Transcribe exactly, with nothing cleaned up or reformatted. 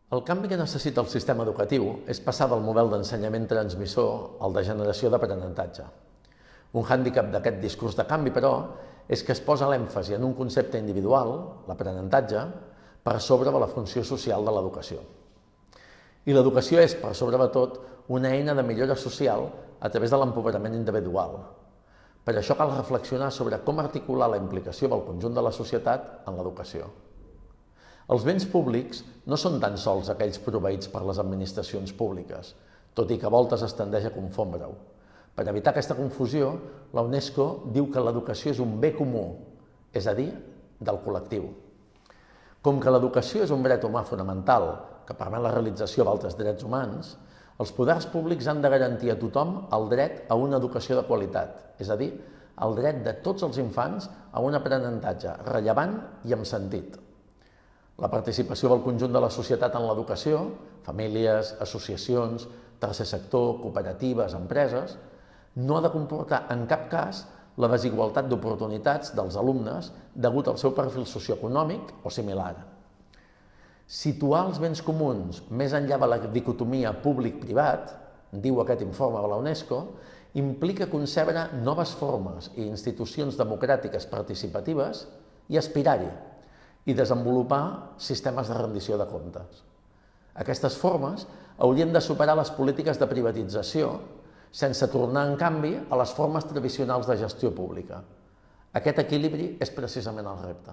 El canvi que necessita el sistema educatiu és passar del model d'ensenyament transmissor al de generació d'aprenentatge. Un hàndicap d'aquest discurs de canvi, però, és que es posa l'èmfasi en un concepte individual, l'aprenentatge, per sobre de la funció social de l'educació. I l'educació és, per sobre de tot, una eina de millora social a través de l'empoderament individual. Per això cal reflexionar sobre com articular la implicació del conjunt de la societat en l'educació. Els béns públics no són tan sols aquells proveïts per les administracions públiques, tot i que a voltes es tendeix a confondre-ho. Per evitar aquesta confusió, la UNESCO diu que l'educació és un bé comú, és a dir, del col·lectiu. Com que l'educació és un dret humà fonamental que permet la realització d'altres drets humans, els poders públics han de garantir a tothom el dret a una educació de qualitat, és a dir, el dret de tots els infants a un aprenentatge rellevant i amb sentit. La participació del conjunt de la societat en l'educació, famílies, associacions, tercer sector, cooperatives, empreses, no ha de comportar en cap cas la desigualtat d'oportunitats dels alumnes degut al seu perfil socioeconòmic o similar. Situar els béns comuns més enllà de la dicotomia públic-privat, diu aquest informe de la UNESCO, implica concebre noves formes i institucions democràtiques participatives i aspirar-hi, i desenvolupar sistemes de rendició de comptes. Aquestes formes haurien de superar les polítiques de privatització sense tornar, en canvi, a les formes tradicionals de gestió pública. Aquest equilibri és precisament el repte.